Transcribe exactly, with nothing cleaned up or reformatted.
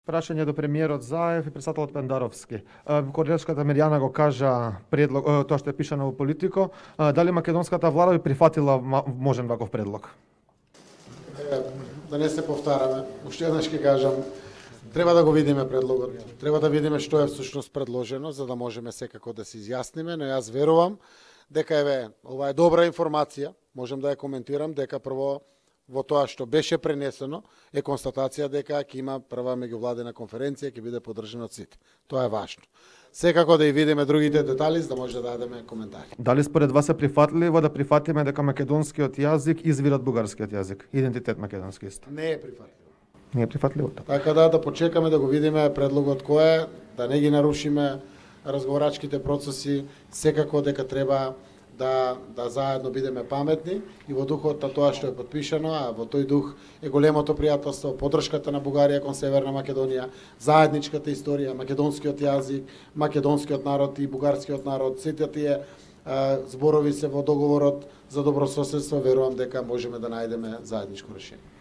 Прашање до премиерот Заев и председателот Пендаровски. Координаторската Мирјана го кажа предлог, тоа што е пишано во Политико. Дали македонската влада би прифатила можен ваков предлог? Да не се повтараме, уште еднаш ќе кажам, треба да го видиме предлогот. Треба да видиме што е всушност предложено, за да можеме секако да се изјасниме, но јас верувам дека еве ова е добра информација, можам да ја коментирам дека прво во тоа што беше пренесено е констатација дека ќе има прва меѓувладена конференција, ќе биде поддржана од сите. Тоа е важно. Секако да и видиме другите детали за да може да дадеме коментари. Дали според вас е прифатливо да прифатиме дека македонскиот јазик извира од бугарскиот јазик? Идентитет македонски исто. Не е прифатливо. Не е прифатливо. Така да да почекаме да го видиме предлогот кој е, да не ги нарушиме разговорачките процеси, секако дека треба да да заедно бидеме паметни и во духот на тоа што е потпишано, а во тој дух е големото пријателство, поддршката на Бугарија кон Северна Македонија, заедничката историја, македонскиот јазик, македонскиот народ и бугарскиот народ, сите тие а, зборови се во договорот за добрососедство, верувам дека можеме да најдеме заедничко решение.